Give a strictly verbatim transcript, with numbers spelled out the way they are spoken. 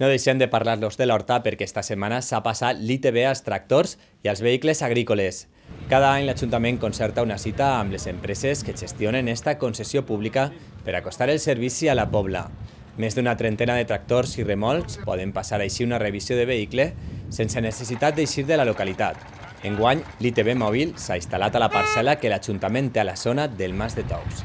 No deixem de parlar-los de l'Horta perquè esta setmana s'ha passat l'I T B als tractors i als vehicles agrícoles. Cada any l'Ajuntament concerta una cita amb les empreses que gestionen esta concessió pública per acostar el servici a la pobla. Més d'una trentena de tractors i remolcs poden passar així una revisió de vehicle sense necessitat d'eixir de la localitat. Enguany, l'I T B mòbil s'ha instal·lat a la parcel·la que l'Ajuntament té a la zona del Mas de Tous.